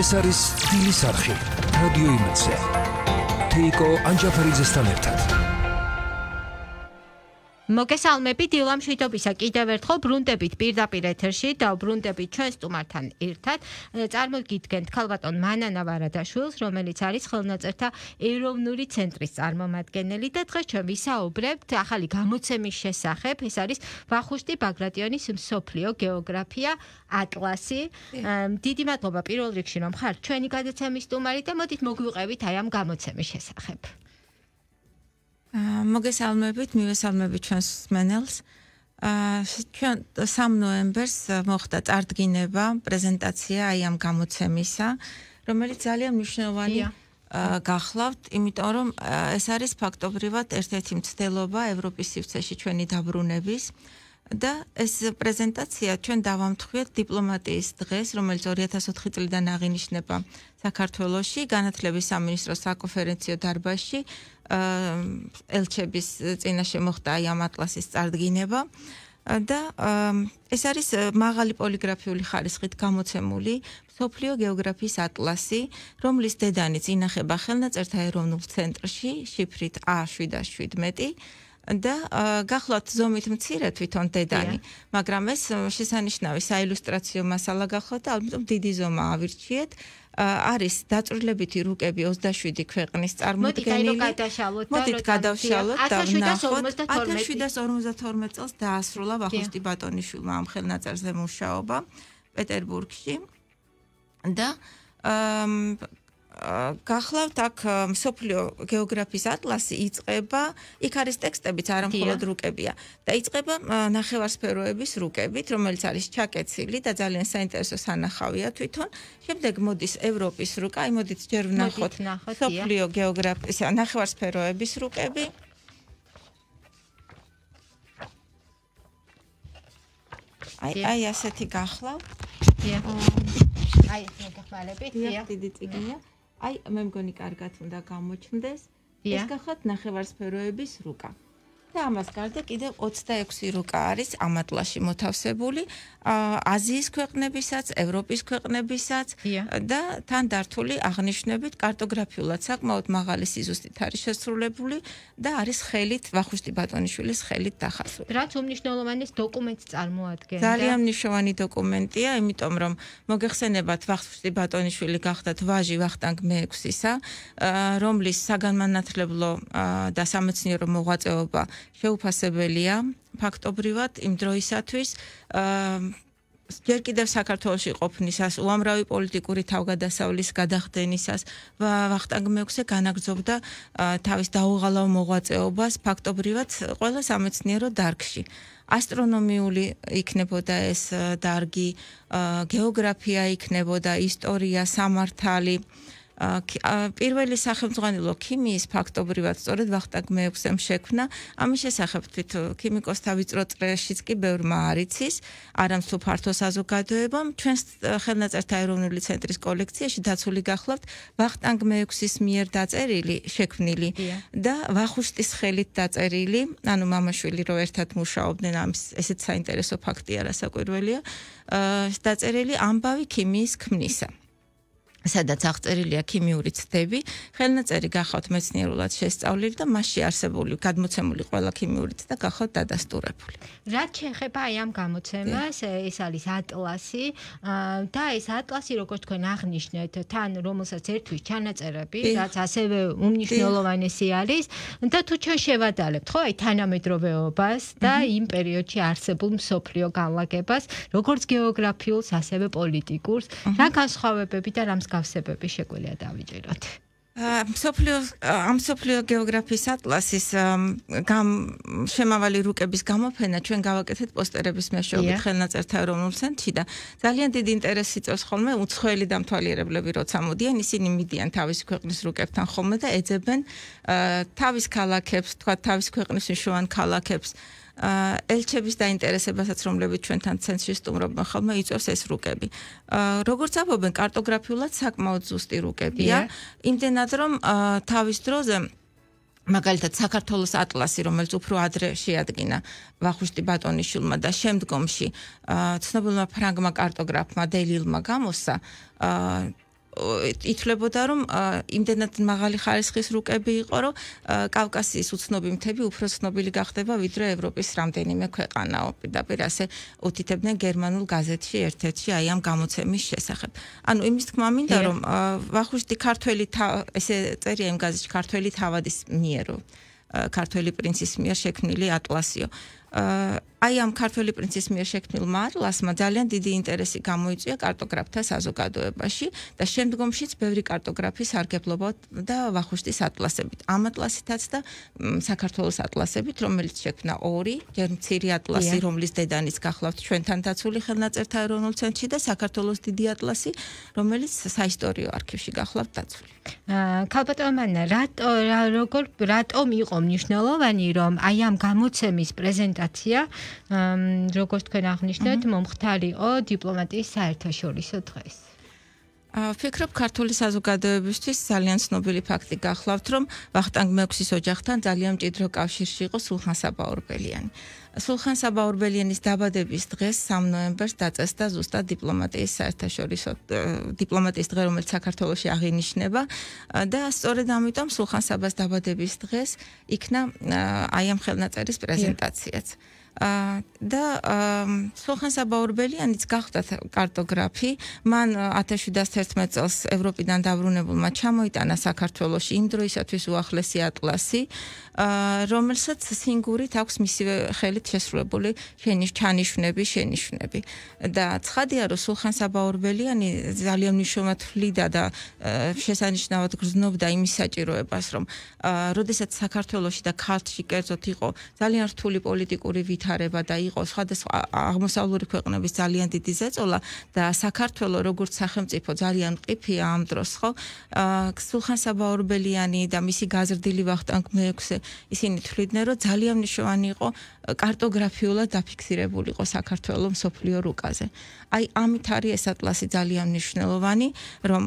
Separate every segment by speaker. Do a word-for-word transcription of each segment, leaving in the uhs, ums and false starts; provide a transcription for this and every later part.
Speaker 1: ეს არის დილის არხი რადიო იმედზე თეიკო ანჯაფარიძესთან ერთად
Speaker 2: მოგესალმებით დილამ შვიდობისა კიდევ ერთხელ ბრუნდებით პირდაპირ ეთერში და ბრუნდებით ჩვენ სტუმართან ერთად წარმოგიდგენთ ქალბატონ მანანა ვარადაშვილს რომელიც არის ხელნაწერთა ეროვნული ცენტრის წარმომადგენელი და დღეს ჩვენ ვისაუბრებთ ახალი გამოცემის შესახებ ეს არის ვახუშტი ბაგრატიონის მსოფლიო გეოგრაფია ატლასი დიდი მადლობა პირველ რიგში რომ ხართ ჩვენი გადაცემის სტუმარი და მოდით მოგვიყევით აი ამ გამოცემის შესახებ
Speaker 3: მოგესალმებით, მივესალმებით ჩვენს მსმენელს. ჩვენ სამი ნოემბერს მოხდა წარდგინება, პრეზენტაცია აი ამ გამოცემისა, რომელიც ძალიან მნიშვნელოვანი გახლავთ, იმიტომ რომ ეს არის ფაქტობრივად ერთ-ერთი მცდელობა ევროპის სივრცეში ჩვენი დაბრუნების და ეს პრეზენტაცია ჩვენ დავამთხვიეთ დიპლომატიის დღეს, რომელიც ორი ათას ოთხი წლიდან აღინიშნება საქართველოში, განათლების სამინისტროს საკონფერენციო დარბაზში. ელჩების წინაშე მოხდა აი ამ ატლასის წარდგინება და ეს არის მაღალი პოლიგრაფიული ხარისხით გამოცემული მსოფლიო გეოგრაფიის ატლასი, რომლის დედანიც ინახება ხელნაწერთა ეროვნულ ცენტრში, შიფრით A შვიდ შვიდმეტი და გახლავთ ზომით მცირე თვითონ დედანი, მაგრამ ეს შესანიშნავი საილუსტრაციო მასალა გახლავთ და ალბათ დიდი ზომა ავირჩიეთ. არის დაწვრილებითი რუკები ოცდაშვიდი ქვეყნის წარმოდგენილი. მოდით გადავშალოთ და ვნახოთ ათას შვიდას ორმოცდათორმეტ წელს დაასრულა ვახუშტი ბატონიშვილმა ამ ხელნაწერზე მუშაობა პეტერბურგში და გახლავთ აქ მსოფლიო გეოგრაფიის ატლასი იწყება, იქ არის ტექსტებიც არა მხოლოდ რუკებია და იწყება ნახევარსფეროების რუკებით, რომელიც არის ჩაკეცილი და ძალიან საინტერესო სანახავია თვითონ. შემდეგ მოდის ევროპის რუკა, აი მოდით ჯერ ვნახოთ მსოფლიო გეოგრაფიის ნახევარსფეროების რუკები. აი აი ასეთი გახლავთ.
Speaker 2: აი მოგეხმარებით,
Speaker 3: დიდი წიგნია. აი მე მგონი კარგად უნდა გამოჩნდეს ეს გახლავთ ნახევარსფეროების რუკა და ამას გარდა კიდევ ოცდაექვსი რუკა არის ამ ატლასში მოთავსებული აზიის ქვეყნებისაც, ევროპის ქვეყნებისაც და თან დართული აღნიშვნებით კარტოგრაფიულად საკმაოდ მაღალი სიზუსტით არის შესრულებული და არის ხელით ვახუშტი ბატონიშვილის ხელით დახასული.
Speaker 2: რაც უმნიშვნელოვანეს დოკუმენტს წარმოადგენდა.
Speaker 3: ძალიან მნიშვნელოვანი დოკუმენტია, იმიტომ რომ მოგეხსენებათ ვახუშტი ბატონიშვილი გახდათ ვაჟი ვახტანგ მეექვსისა, რომლის საგანმანათლებლო და სამეცნიერო მოღვაწეობა შეუფასებელია ფაქტობრივად იმ დროისათვის ჯერ კიდევ საქართველოში ყოფნისას, უამრავი პოლიტიკური თავგადასავლის გადახდენისას ვახტანგ მეექვსე განაგრძობდა თავის დაუღალავ მოღვაწეობას ფაქტობრივად ყველა სამეცნიერო დარგში. ასტრონომიული იქნებოდა ეს დარგი, გეოგრაფია იქნებოდა, ისტორია, სამართალი. პირველი სახელმძღვანელო ქიმიის ფაქტობრივად სწორედ ვახტანგ მეექვსემ შექმნა. ამის შესახებ თვით ქიმიკოსთა ვიწრო წრეშიც კი ბევრმა არ იცის, არა თუ ფართო საზოგადოებამ. ჩვენს ხელნაწერთა ეროვნული ცენტრის კოლექციაში დაცული გახლავთ ვახტანგ მეექვსის მიერ დაწერილი, შექმნილი და ვახუშტის ხელით დაწერილი, ანუ მამაშვილი რო ერთად მუშაობდნენ, ამის ესეც საინტერესო ფაქტია, რასაკვირველია, დაწერილი ამბავი ქიმიის ქმნისა. სადაც აღწერილია ქიმიური ცდები, ხელნაწერი გახავთ მეცნიერულად შესწავლილი და მასში არსებული გადმოცემული ყველა ქიმიური ცდა გახავთ დადასტურებული.
Speaker 2: რაც შეეხება აი ამ გამოცემას, ეს არის ატლასი და ეს ატლასი, როგორც თქვენ აღნიშნეთ, თან რომელსაც ერთვის ჩანაწერები, რაც ასევე უმნიშვნელოვანესი არის და თუ ჩვენ შევადარებთ, ხო, აი თანამედროვეობას და იმ პერიოდში არსებულ მსოფლიო განლაგებას, როგორც გეოგრაფიულს, ასევე პოლიტიკურს, რა განსხვავებები და რა გავსებები შეგვიძლია დავიჭიროთ.
Speaker 3: მსოფლიო ამ მსოფლიო გეოგრაფიის ატლასის შემავალი რუკების გამოფენა ჩვენ გავაკეთეთ პოსტერების მეშვეობით ხელნაწერთა ეროვნულ ცენტრში და ძალიან დიდი ინტერესი წევს ხოლმე უცხოელი დამთვალიერებლები როცა მოდიან, ისინი მიდიან თავის ქვეყნის რუკებთან ხოლმე და ეძებენ თავის ქალაქებს, თქვა თავის ქვეყნის მნიშვნელოვან ქალაქებს. ელჩების დაინტერესებასაც, რომლებიც ჩვენთან ცენტრში სტუმრობენ ხოლმე, იწვევს ეს რუკები. როგორც ამბობენ, კარტოგრაფიულად საკმაოდ ზუსტი რუკებია, იმდენად რომ თავის დროზე მაგალითად საქართველოს ატლასი, რომელიც უფრო ადრე შეადგინა ვახუშტი ბატონიშვილმა და შემდგომში ცნობილმა ფრანგმა კარტოგრაფმა დელილმა გამოსცა, ითვლებოდა რომ იმდენად მაღალი ხარისხის რუკები იყო რომ კავკასიის უცნობი მთები უფრო ცნობილი გახდება ვიდრე ევროპის რამდენიმე ქვეყანაო პირდაპირ ასე უთითებდნენ გერმანულ გაზეთში ერთ-ერთში აი ამ გამოცემის შესახებ. ანუ იმის თქმა მინდა რომ ვახუშტი ქართველი ესე წერია იმ გაზეთში ქართველი თავადის მიერო ქართველი პრინცის მიერ შექმნილი ატლასიო. აი ამ ქართველი პრინცის მიერ შექმნილმა ატლასმა ძალიან დიდი ინტერესი გამოიწვია კარტოგრაფთა საზოგადოებაში და შემდგომშიც ბევრი კარტოგრაფი სარგებლობდა და ვახუშტის ატლასებით. ამ ატლასითაც და საქართველოს ატლასებით, რომელიც შექმნა ორი, ჯერ მცირე ატლასი, რომლის დედანიც გახლავთ ჩვენთან დაცული ხელნაწერთა ეროვნულ ცენტრში და საქართველოს დიდი ატლასი, რომელიც საისტორიო არქივში გახლავთ დაცული.
Speaker 2: ქალბატონო მანა, რატო როგორ რატომ იყო მნიშვნელოვანი რომ აი ამ გამოცემის პრეზენტაცია როგორც თქვენ აღნიშნეთ, მომხდარიყო დიპლომატიის საერთაშორისო დღეს.
Speaker 3: ვფიქრობ, ქართული საზოგადოებისთვის ძალიან ცნობილი ფაქტი გახლავთ, რომ ვახტანგ მეექვსის ოჯახთან ძალიან მჭიდრო კავშირში იყო სულხან საბა-ორბელიანი. სულხან საბა-ორბელიანის დაბადების დღეს სამი ნოემბერს დაწესდა ზუსტად დიპლომატიის საერთაშორისო დიპლომატიის დღე, რომელიც საქართველოში აღინიშნება და სწორედ ამიტომ სულხან საბას დაბადების დღეს იქნა აი ამ ხელნაწერის პრეზენტაციაც. და სულხან საბა-ორბელიანიც გახდა კარტოგრაფი, მან ათას შვიდსათ ერთმეტ წელს ევროპიდან დაბრუნებულმა ჩამოიტანა საქართველოში იმ დროისათვის უახლესი ატლასი, რომელსაც სინგურით აქვს მისივე ხელით შესრულებული ჩანიშვნები, შენიშვნები. და ცხადია, რომ სულხან საბა-ორბელიანი ძალიან მნიშვნელოვნად თვლიდა და შესანიშნავად გრძნობდა იმის საჭიროებას, რომ როდესაც საქართველოში და ქართლში კერძოდ იყო ძალიან რთული პოლიტიკური ვითარება და იყო სხვადასხვა აღმოსავლური ქვეყნების ძალიან დიდი ზეწოლა და საქართველო როგორც სახელმწიფო ძალიან მყიფია ამ დროს, ხო? სულხან საბა-ორბელიანი და მისი გაზრდილი ვახტანგ მეექვსე ისინი თვლიდნენ, რომ ძალიან მნიშვნელოვანი იყო კარტოგრაფიულად დაფიქსირებულიყო საქართველოს მსოფლიო რუკაზე. აი ამით არის ეს ატლასი ძალიან მნიშვნელოვანი, რომ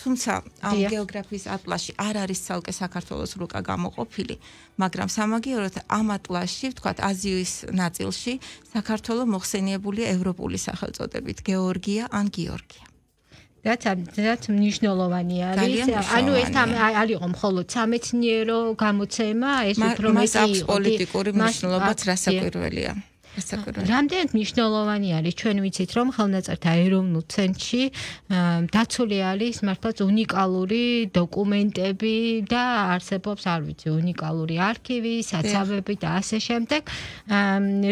Speaker 3: თუმცა ამ გეოგრაფიის ატლასში არ არის ცალკე საქართველოს რუკა გამოყოფილი, მაგრამ სამაგიეროდ ამ ატლასში, ვთქვათ, აზიის ნაწილში საქართველო მოხსენიებულია ევროპული სახელწოდებით გეორგია ან გიორგია.
Speaker 2: რაც რაც მნიშვნელოვანი არის. ანუ ეს არ იყო მხოლოდ სამეცნიერო გამოცემა, ეს უფრო
Speaker 3: მეტი იყო პოლიტიკური მნიშვნელობაც რასაკვირველია.
Speaker 2: რამდენად მნიშვნელოვანი არის ჩვენ ვიცით რომ ხელნაწერთა ეროვნულ ცენტრში დაცული არის მართლაც უნიკალური დოკუმენტები და არსებობს არ ვიცი უნიკალური არქივი, საცავები და ასე შემდეგ.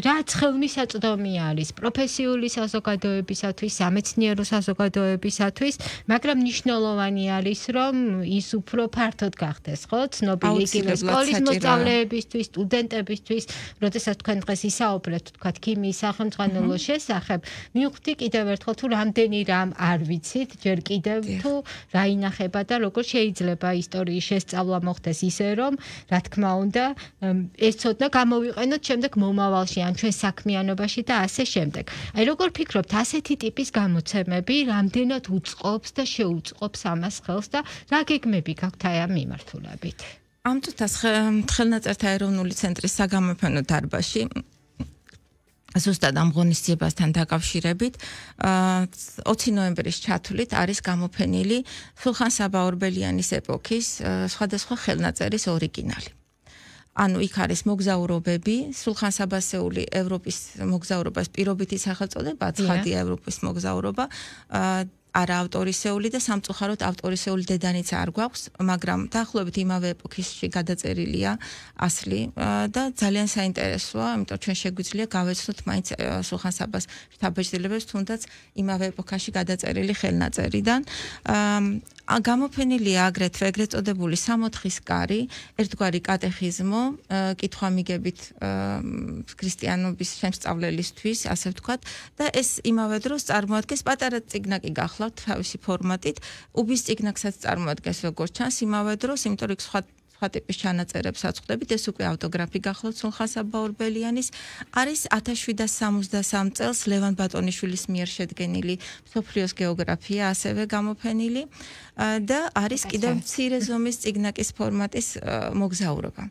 Speaker 2: რაც ხელმისაწვდომი არის პროფესიული საზოგადოებისათვის, სამეცნიერო საზოგადოებისათვის, მაგრამ მნიშვნელოვანი არის რომ ის უფრო ფართოდ გახდეს, ხო? ცნობილი იგივე სკოლის მოსწავლეებისთვის, სტუდენტებისთვის, როდესაც თქვენ დღეს ისაუბრეთ თქვათ ქიმიის სახელმძღვანელოს შესახებ, მივხვდი კიდევ ერთხელ თუ რამდენი რამ არ ვიცით, ჯერ კიდევ თუ რა ინახება და როგორ შეიძლება ისტორიის შესწავლა მოხდეს ისე რომ, რა თქმა უნდა, ეს ცოდნა გამოვიყენოთ შემდეგ მომავალში, ან ჩვენ საქმიანობაში და ასე შემდეგ. აი როგორ ფიქრობთ, ასეთი ტიპის გამოცემები რამდენად უწყობს და შეუწყობს ამას ხელს და რა გეგმები გაქვთ აი ამ მიმართულებით?
Speaker 3: ამ წუთას ხელნაწერთა ეროვნული ცენტრის საგამოფენო დარბაზში ზუსტად ამ ღონისძიებასთან დაკავშირებით ოცი ნოემბრის ჩათვლით არის გამოფენილი სულხან საბა-ორბელიანის ეპოქის სხვადასხვა ხელნაწერის ორიგინალი. ანუ იქ არის მოგზაურობები, სულხან საბასეული ევროპის მოგზაურობას პირობითი სახელწოდება, ცხადია ევროპის მოგზაურობა, არა ავტორისეული და სამწუხაროდ ავტორისეული დედანიც არ გვაქვს, მაგრამ დაახლოებით იმავე ეპოქისში გადაწერილია ასლი და ძალიან საინტერესოა, იმიტომ ჩვენ შეგვიძლია გავეცნოთ მაინც სულხან საბას შთაბეჭდილებებს, თუნდაც იმავე ეპოქაში გადაწერილი ხელნაწერიდან. გამოფენილია აგრეთვე ეგრეთ წოდებული სამოთხის კარი, ერთგვარი კატეხიზმო, კითხვა-მიგებით ქრისტიანობის შემსწავლელისთვის, ასე ვთქვათ, და ეს იმავე დროს წარმოადგენს პატარა წიგნაკი გახლავთ თავისი ფორმატით, უბის წიგნაკსაც წარმოადგენს როგორც ჩანს, იმავე დროს, იმიტომ რომ სხვა სხვა ტიპის ჩანაწერებს აწყდებით, ეს უკვე ავტოგრაფი გახლავთ სულხან საბაურბელიანის, არის ათას შვიდსათ სამოცდასამ წელს ლევან ბატონიშვილის მიერ შედგენილი მსოფლიოს გეოგრაფია ასევე გამოფენილი და არის კიდევ მცირე ზომის წიგნაკის ფორმატის მოგზაურობა.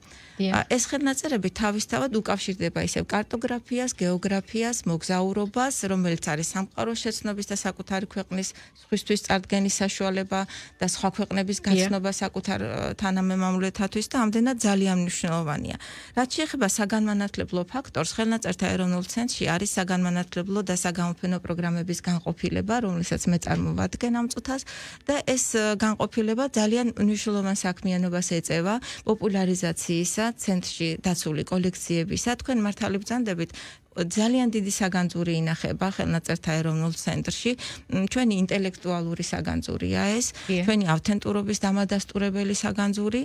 Speaker 3: ეს ხელნაწერები თავისთავად უკავშირდება ისევ კარტოგრაფიას, გეოგრაფიას, მოგზაურობას, რომელიც არის სამყაროს შეცნობის და საკუთარი ქვეყნის სხვისთვის წარდგენის საშუალება და სხვა ქვეყნების გაცნობა საკუთარ თანამემამულეთათვის და ამდენად ძალიან მნიშვნელოვანია. რაც შეეხება საგანმანათლებლო ფაქტორს, ხელნაწერთა ეროვნულ ცენტრში არის საგანმანათლებლო და საგამოფენო პროგრამების განყოფილება, რომელსაც მე წარმოვადგენ ამ წუთას და ეს განყოფილება ძალიან მნიშვნელოვან საქმიანობას ეწევა პოპულარიზაციისა ცენტრში დაცული კოლექციებისა. თქვენ მართალი ბრძანდებით, ძალიან დიდი საგანძური ინახება ხელნაწერთა ეროვნულ ცენტრში. ჩვენი ინტელექტუალური საგანძურია ეს, ჩვენი ავთენტურობის დამადასტურებელი საგანძური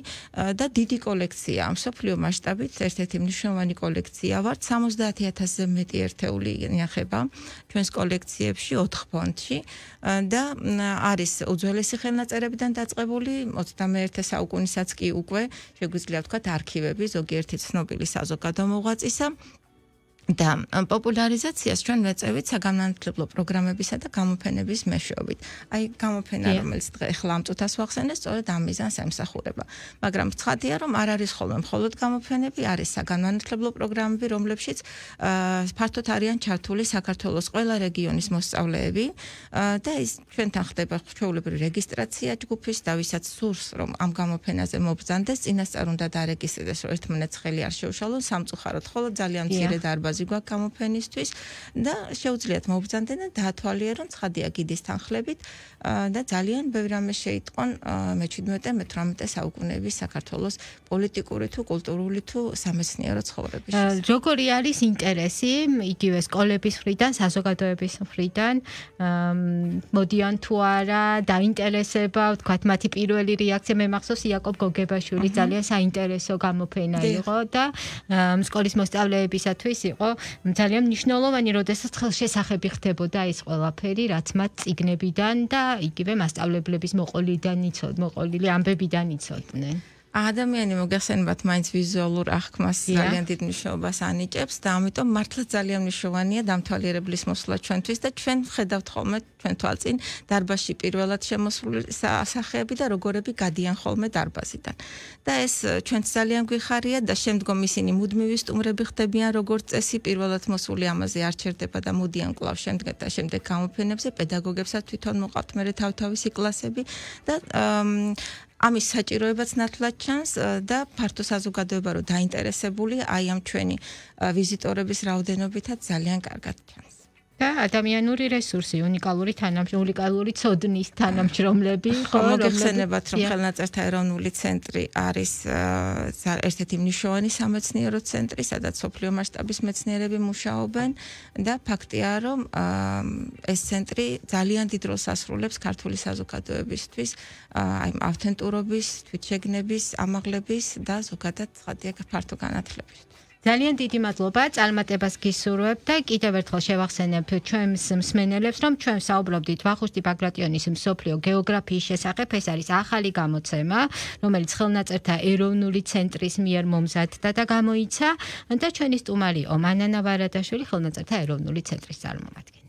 Speaker 3: და დიდი კოლექცია. მსოფლიო მასშტაბით ერთ-ერთი მნიშვნელოვანი კოლექცია ვართ, სამოცდაათი ათასზე მეტი ერთეული ინახება ჩვენს კოლექციებში ოთხ ფონდში და არის უძველესი ხელნაწერებიდან დაწყებული ოცდამეერთე საუკუნისაც კი უკვე შეგვიძლია ვთქვათ არქივები ზოგიერთი ცნობილი საზოგადო მოღვაწისა და პოპულარიზაციას ჩვენ ვეწევით საგანმანათლებლო პროგრამებისა და გამოფენების მეშვეობით. აი გამოფენა, რომელიც ახლა ამ წუთას ვახსენე, სწორედ ამ მიზანს ემსახურება. მაგრამ ცხადია, რომ არ არის ხოლმე მხოლოდ გამოფენები, არის საგანმანათლებლო პროგრამები, რომლებშიც ფართოდ არიან ჩართული საქართველოს ყველა რეგიონის მოსწავლეები და ის ჩვენთან ხდება ჩვეულებრივი რეგისტრაცია ჯგუფის და ვისაც სურს, რომ ამ გამოფენაზე მობრძანდეს, წინასწარ უნდა დარეგისტრდეს, რომ ერთმანეთს ხელი არ შეუშალონ, სამწუხაროდ ხოლო ძალიან მცირე დარბაზი გვაქვს გამოფენისთვის და შეუძლიათ მობრძანდნენ და დაათვალიერონ ცხადია გიდის თანხლებით და ძალიან ბევრი რამე შეიტყონ მეჩვიდმეტე მეთვრამეტე საუკუნეების საქართველოს პოლიტიკური თუ კულტურული თუ სამეცნიერო ცხოვრების შესახებ.
Speaker 2: როგორი არის ინტერესი იგივე სკოლების მხრიდან, საზოგადოების მხრიდან, მოდიან თუ არა, დაინტერესება, ვთქვათ, მათი პირველი რეაქცია მე მახსოვს იაკობ გოგებაშვილის ძალიან საინტერესო გამოფენა იყო და სკოლის მოსწავლეებისათვის იყო ძალიან მნიშვნელოვანი, როდესაც ხელშესახები ხდებოდა ეს ყველაფერი, რაც მათ წიგნებიდან და იგივე მასწავლებლების მოყოლიდან იცოდ, მოყოლილი ამბებიდან იცოდნენ.
Speaker 3: ადამიანი მოგეხსენებათ მაინც ვიზუალურ აღქმას ძალიან დიდ მნიშვნელობას ანიჭებს და ამიტომ მართლა ძალიან მნიშვნელოვანია დამთვალიერებლის მოსვლა ჩვენთვის და ჩვენ ხედავთ ხოლმე ჩვენ თვალწინ დარბაზში პირველად შემოსული სახეები და როგორები გადიან ხოლმე დარბაზიდან. და ეს ჩვენც ძალიან გვიხარია და შემდგომ ისინი მუდმივი სტუმრები ხდებიან როგორც წესი, პირველად მოსული ამაზე არ ჩერდება და მოდიან კვლავ შემდეგ და შემდეგ გამოფენებზე, პედაგოგებსაც თვითონ მოყავთ მერე თავთავისი კლასები და ამის საჭიროებაც ნათლად ჩანს და ფართო საზოგადოება რო დაინტერესებული აი ამ ჩვენი ვიზიტორების რაოდენობითაც ძალიან კარგად ჩანს.
Speaker 2: და ადამიანური რესურსი, უნიკალური თანამშრომლები, უნიკალური ცოდნის თანამშრომლები,
Speaker 3: ხო, მოგეხსენებათ, რომ ხელნაწერთა ეროვნული ცენტრი არის ერთ-ერთი მნიშვნელოვანი სამეცნიერო ცენტრი, სადაც სოფლიო მასშტაბის მეცნიერები მუშაობენ და ფაქტია, რომ ეს ცენტრი ძალიან დიდ როლს ასრულებს ქართული საზოგადოებისთვის, აი ავთენტურობის, თვითშეგნების, ამაღლების და ზოგადად ცხადია ფართო განათლების.
Speaker 2: ძალიან დიდი მადლობა, წარმატებას გისურვებ და კიდევ ერთხელ შევახსენებ ჩვენს მსმენელებს, რომ ჩვენ საუბრობდით ვახუშტი ბაგრატიონის მსოფლიო გეოგრაფიის შესახებ. ეს არის ახალი გამოცემა, რომელიც ხელნაწერთა ეროვნული ცენტრის მიერ მომზადდა და გამოიცა და ჩვენი სტუმარი იყო მანანა ვარადაშვილი, ხელნაწერთა ეროვნული ცენტრის წარმომადგენელი.